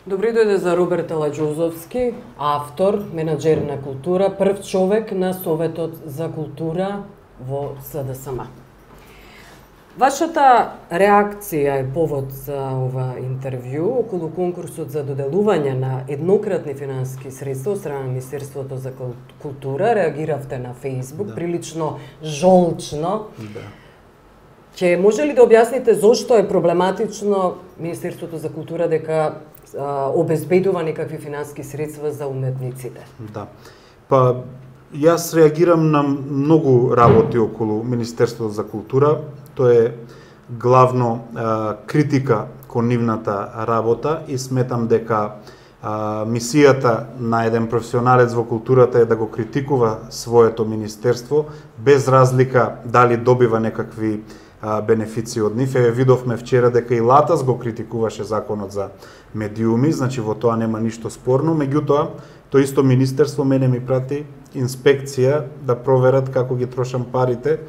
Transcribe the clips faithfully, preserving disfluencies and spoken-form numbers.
Добри дојде за Роберт Аладжузовски, автор, менаџер на култура, прв човек на Советот за култура во С Д С М. Вашата реакција е повод за ова интервју околу конкурсот за доделување на еднократни финансиски средства од страна на Министерството за култура. Реагиравте на Facebook, да. Прилично жолчно. Да. Ќе може ли да објасните зошто е проблематично Министерството за култура дека а, обезбедува некакви финансиски средства за уметниците? Да. Па, јас реагирам на многу работи околу Министерството за култура. Тоа е главно а, критика кон нивната работа и сметам дека а, мисијата на еден професионалец во културата е да го критикува своето министерство без разлика дали добива некакви а, бенефиции од нив. Еве видовме вчера дека и Латас го критикуваше законот за медиуми, значи во тоа нема ништо спорно, меѓутоа тоа исто министерство мене ми прати инспекција да проверат како ги трошам парите,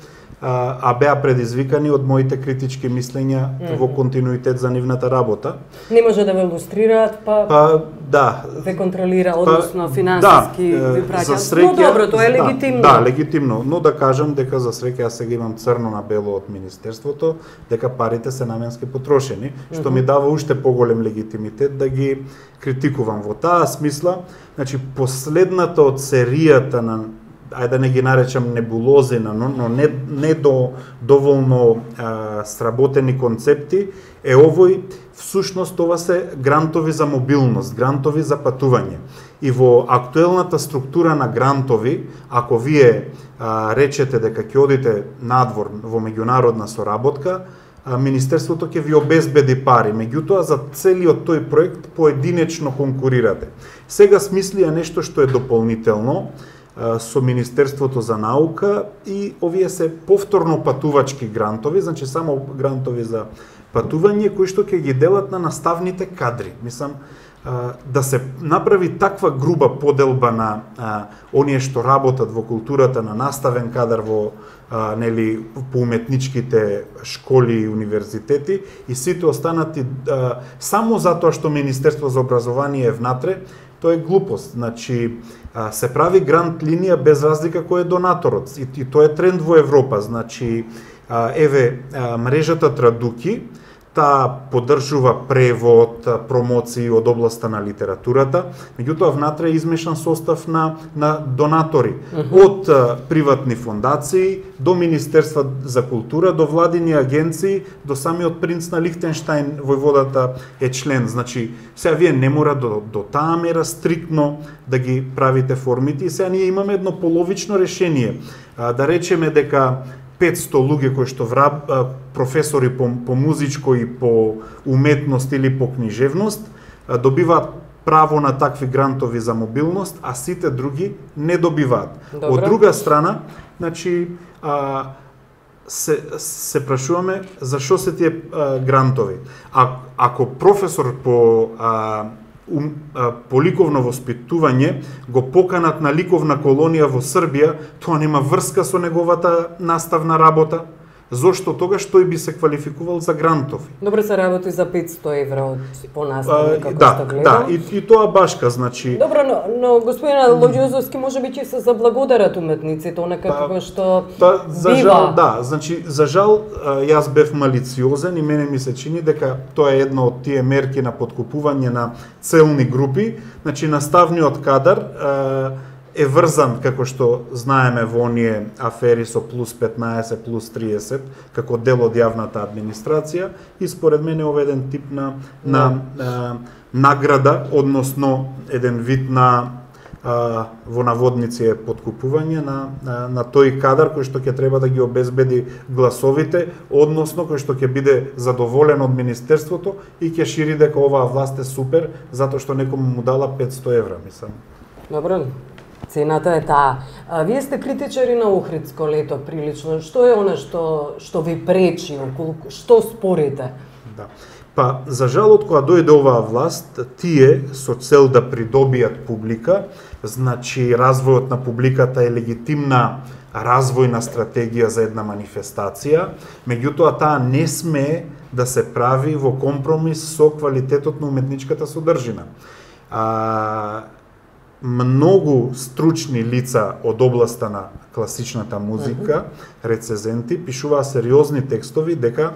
а, а беа предизвикани од моите критички мислења mm -hmm. во континуитет за нивната работа. Не може да ве илустрираат, па, па да, ве контролира, односно па, финансиски да, ви праќаат. Среќа, но добро, тоа е легитимно. Да, да, легитимно, но да кажам дека за среќа јас сега имам црно на бело од министерството, дека парите се наменски потрошени, mm -hmm. што ми дава уште поголем легитимитет да ги критикувам во таа смисла. Значи, последната од серијата на, ајде да не ги наречам небулози, но, но не, не до доволно а, сработени концепти, е овој, всушност ова се грантови за мобилност, грантови за патување. И во актуелната структура на грантови, ако вие а, речете дека ќе одите надвор во меѓународна соработка, Министерството ќе ви обезбеди пари, меѓутоа за целиот тој проект поединечно конкурирате. Сега смислија нешто што е дополнително со Министерството за наука и овие се повторно патувачки грантови, значи само грантови за патување кои што ќе ги делат на наставните кадри. Мислам, да се направи таква груба поделба на а, оние што работат во културата, на наставен кадар во а, нели по уметничките школи и универзитети и сите останати а, само затоа што Министерство за образование е внатре, тоа е глупост. Значи а, се прави грант линија без разлика кој е донаторот и, и тоа е тренд во Европа. Значи а, еве а, мрежата Традуки, таа поддржува превод, промоции од областа на литературата, меѓутоа внатре е измешан состав на, на донатори, uh -huh. од а, приватни фондации до Министерства за култура, до владини агенции, до самиот принц на Лихтенштајн, војводата е член. Значи, сега вие не мора до, до таа мера стриктно да ги правите формите и сега ние имаме едно половично решение. А, да речеме дека петсто луѓе кои што враб, професори по, по музичко и по уметност или по книжевност добиваат право на такви грантови за мобилност, а сите други не добиваат. Добре. Од друга страна, значи, а, се, се прашуваме зашо се тие а, грантови. А, ако професор по а, Um, по ликовно воспитување го поканат на ликовна колонија во Србија, тоа нема врска со неговата наставна работа. Зошто тогаш тој би се квалификувал за грантови? Добро се работи за петсто евра од понаставник, како да, што гледам. Да, и, и тоа башка, значи... Добро, но, но господин Аладжузовски може би ќе се заблагодарат уметниците, онакако па, што па, за бива. Жал, да, значи, за жал, јас бев малициозен и мене ми се чини дека тоа е една од тие мерки на подкупување на целни групи. Значи, наставниот кадар е врзан, како што знаеме во оние афери со плюс петнаесет, плюс триесет, како дел од јавната администрација и според мене ова е еден тип на, на а, награда, односно еден вид на а, во наводници е подкупување на, на, на тој кадар кој што ќе треба да ги обезбеди гласовите, односно кој што ќе биде задоволен од Министерството и ќе шири дека оваа власт е супер, затоа што некому му дала петсто евра, мислам. Добро. Цената е таа. А, вие сте критичари на Охридско лето прилично. Што е она што што ви пречи, околу што спорите? Да. Па, за жал, од кога дојде оваа власт, тие со цел да придобијат публика, значи развојот на публиката е легитимна развојна стратегија за една манифестација, меѓутоа таа не смее да се прави во компромис со квалитетот на уметничката содржина. А, многу стручни лица од областа на класичната музика, рецензенти, пишуваа сериозни текстови дека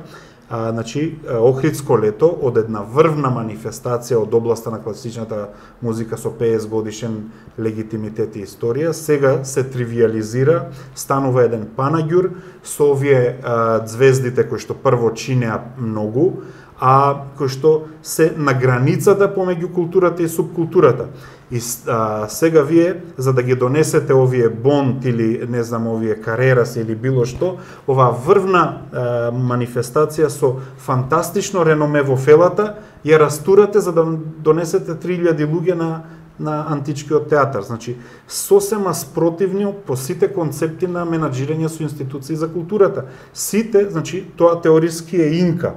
а, значи, Охридско лето од една врвна манифестација од областа на класичната музика со петдесет годишен легитимитет и историја, сега се тривиализира, станува еден панаѓур со овие а, звездите кои што прво чинеа многу, а кои што се на границата помеѓу културата и субкултурата. И а, сега вие, за да ги донесете овие Бонд или, не знам, овие Карерас или било што, оваа врвна а, манифестација со фантастично реноме во фелата, ја растурате за да донесете три илјади луѓе на на античкиот театар. Значи, сосема спротивни по сите концепти на менаџирање со институции за културата. Сите, значи, тоа теориски е инка.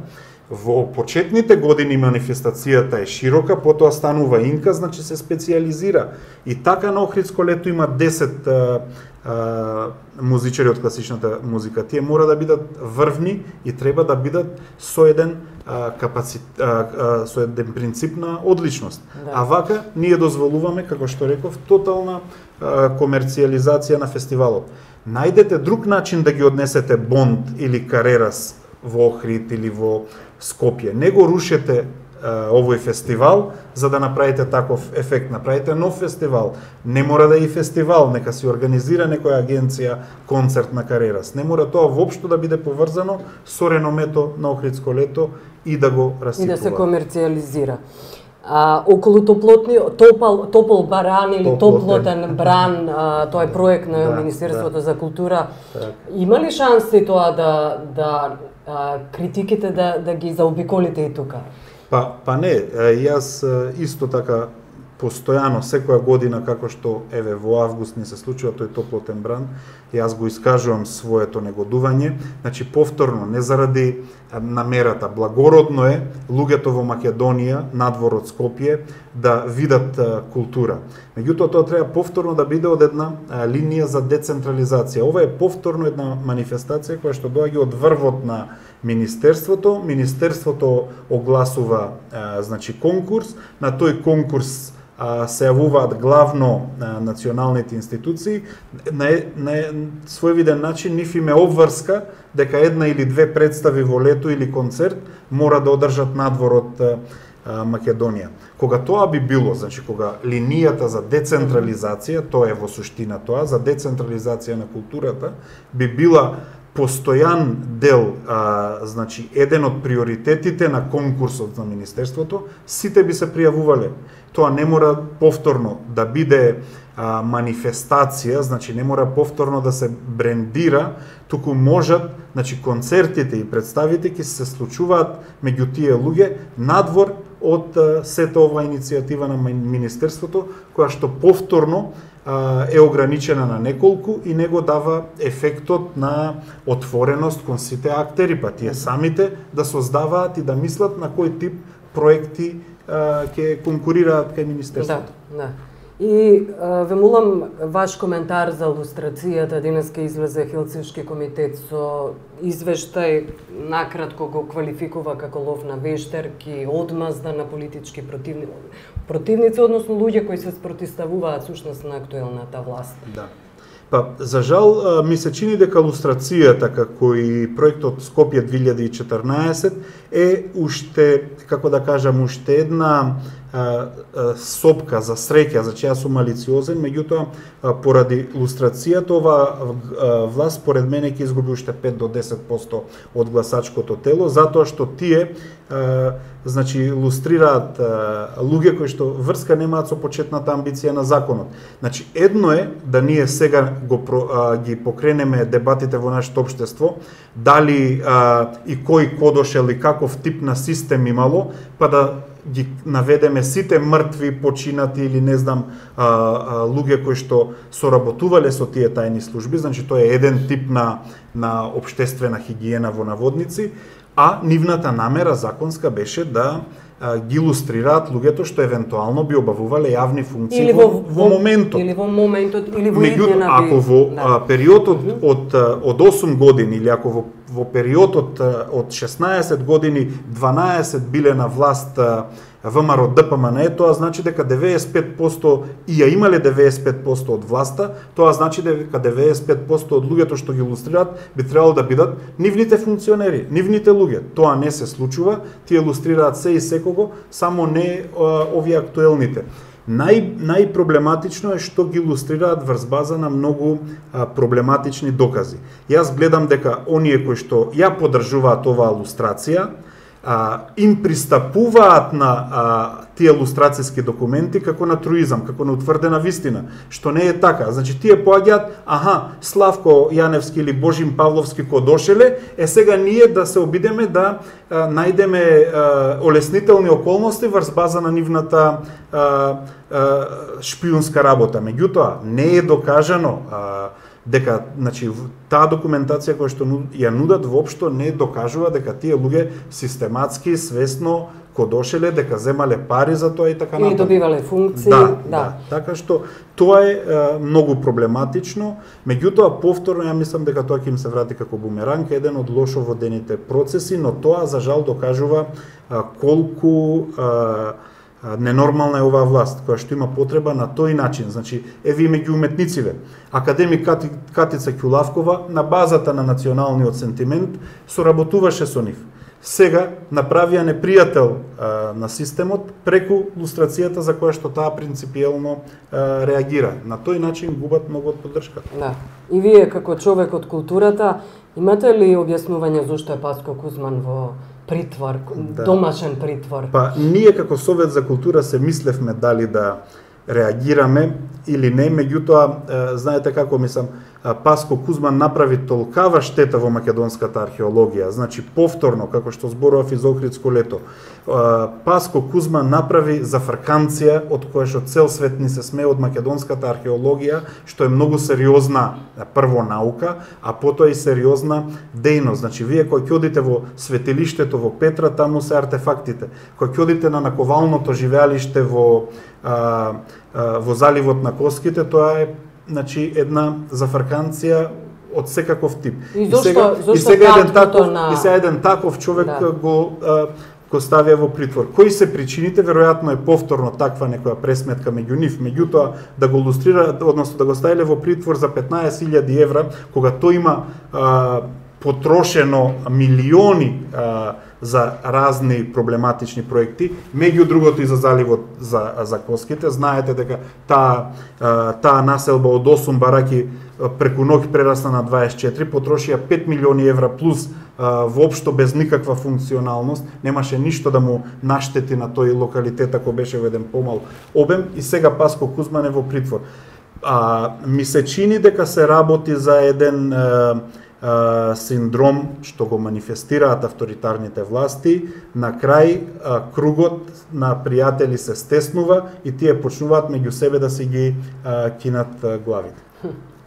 Во почетните години манифестацијата е широка, потоа станува инка, значи се специализира. И така на Охридско лето има десет а, а, музичари од класичната музика. Тие мора да бидат врвни и треба да бидат со еден а, капацит, а, а, со еден принцип на одличност. Да. А вака ние дозволуваме, како што реков, тотална а, комерцијализација на фестивалот. Најдете друг начин да ги однесете Бонд или Карерас во Охрид или во Скопје. Не го рушете а, овој фестивал за да направите таков ефект. Направите нов фестивал. Не мора да е и фестивал, нека се организира некоја агенција концерт на Карерас. Не мора тоа воопшто да биде поврзано со реномето на Охридско лето и да го расипува. И да се комерцијализира. А, околу топлотни, топал, топол баран или топлотен бран, а, тоа е проект на да, Министерството да. за култура. Так. Има ли шанси тоа да, да а, критиките да, да ги заобиколите и тука? Па, па не, јас исто така постојано, секоја година, како што еве во август ни се случува тој топлотен бран, јас го искажувам своето негодување, значи повторно, не заради намерата, благородно е луѓето во Македонија, надвор од Скопје, да видат а, култура. Меѓутоа, тоа треба повторно да биде од една а, линија за децентрализација. Ова е повторно една манифестација која што доаѓа од врвот на Министерството. Министерството огласува а, значи конкурс, на тој конкурс се јавуваат главно а, националните институции, на, на својвиден начин нив им е обврска дека една или две представи во лето или концерт мора да одржат надвор од а, Македонија. Кога тоа би било, значи кога линијата за децентрализација, тоа е во суштина тоа, за децентрализација на културата, би била постојан дел, а, значи еден од приоритетите на конкурсот на Министерството, сите би се пријавувале. Тоа не мора повторно да биде а, манифестација, значи не мора повторно да се брендира, туку можат, значи концертите и представите ќе се случуваат меѓу тие луѓе надвор од а, сета ова иницијатива на Министерството, која што повторно а, е ограничена на неколку и него дава ефектот на отвореност кон сите актери, па тие самите да создаваат и да мислат на кој тип проекти ќе конкурираат кај Министерството. Да, да. И а, ве молам ваш коментар за лустрацијата. Денеска излезе Хелсиншки комитет со извештај, накратко го квалификува како лов на вештерки, одмазда на политички противници, противници, односно луѓе кои се спротивставуваат сушност на актуелната власт. Да. Па, за жал, ми се чини дека лустрацијата како и проектот Скопје две илјади и четрнаесет е уште, како да кажам, уште една а, а, сопка за среќа, за че јас сум малициозен, меѓутоа поради лустрацијата ова власт според мене ќе изгуби уште пет до десет проценти од гласачкото тело, затоа што тие а, значи лустрираат а, луѓе кои што врска немаат со почетната амбиција на законот. Значи едно е да ние сега го а, ги покренеме дебатите во нашето општество, дали а, и кој кодошел и каков тип на систем имало, па да ги наведеме сите мртви, починати или не знам а, а, луѓе кои што соработувале со тие тајни служби, значи тоа е еден тип на на општествена хигиена во наводници, а нивната намера законска беше да а, ги илустрираат луѓето што евентуално би обавувале јавни функции или во, во, во моментот. Или во моментот, или во Меѓутоа, иднина ако во да. а, периодот од, од осум години или ако во, во периодот од шеснаесет години дванаесет биле на власт ВМРО Д П М Н, тоа значи дека деветдесет и пет проценти и ја имале деветдесет и пет проценти од власта, тоа значи дека деветдесет и пет проценти од луѓето што ги илустрираат би требало да бидат нивните функционери, нивните луѓе. Тоа не се случува, тие илустрираат се и секого, само не а, овие актуелните. Нај, најпроблематично е што ги илустрираат врз база на многу а, проблематични докази. Јас гледам дека оние кои што ја поддржуваат оваа илустрација, а, им пристапуваат на а, тие илустрацијски документи како на труизам, како на утврдена вистина, што не е така. Значи тие поаѓаат, аха, Славко Јаневски или Божим Павловски ко дошле, е сега ние да се обидеме да а, најдеме а, олеснителни околности врз база на нивната а, а, шпиунска работа. Меѓутоа, не е докажано а, дека, значи, таа документација која што ја нудат воопшто не докажува дека тие луѓе систематски, свесно кодошеле, дека земале пари за тоа и така натаму. Или добивале функции. Да, да. да. Така што тоа е, е многу проблематично. Меѓутоа, повторно ја мислам дека тоа ќе им се врати како бумеранг, еден од лошо водените процеси, но тоа за жал докажува а, колку а, ненормална е оваа власт, која што има потреба на тој начин. Значи, еве и меѓу уметниците. Академик Кати, Катица Ќулавкова на базата на националниот сентимент соработуваше со нив. Сега направија непријател а, на системот преку лустрацијата за која што таа принципиелно а, реагира. На тој начин губат многу од поддршка. Да. И вие како човек од културата имате ли објаснување зошто е Паско Кузман во притвор, да. Домашен притвор? Па ние како Совет за култура се мислевме дали да реагираме или не, меѓутоа знаете како мислам, Паско Кузман направи толкава штета во македонската археологија, значи повторно, како што зборував из Охридско лето, Паско Кузман направи зафрканција од која што цел свет ни се смее од македонската археологија, што е многу сериозна прво наука, а потоа и сериозна дејност. Значи вие кога ќе одите во светилиштето во Петра, таму се артефактите. Кога ќе одите на наковалното живеалиште во а, а, во заливот на Коските, тоа е значи една зафрканција од секаков тип. И зошто, и сега, зошто и сега еден таков, на... и сега еден таков човек да. го а, го ставија во притвор. Кои се причините? Веројатно е повторно таква некоја пресметка меѓу нив, меѓутоа да го илустрира, односно да го ставиле во притвор за петнаесет илјади евра, кога тој има а, потрошено милиони а, за разни проблематични проекти, меѓу другото и за заливот за, за Коските. Знаете дека таа, таа населба од осум бараки преку ноќ прерасна на дваесет и четири, потрошија пет милиони евра плюс воопшто без никаква функционалност, немаше ништо да му наштети на тој локалитет ако беше во еден помал обем, и сега Паско Кузман е во притвор. А, ми се чини дека се работи за еден а, Uh, синдром што го манифестираат авторитарните власти. На крај uh, кругот на пријатели се стеснува и тие почнуваат меѓу себе да си ги uh, кинат uh, главите.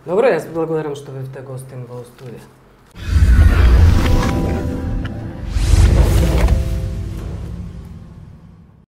Добро, јас благодарам што бевте гостин во студија.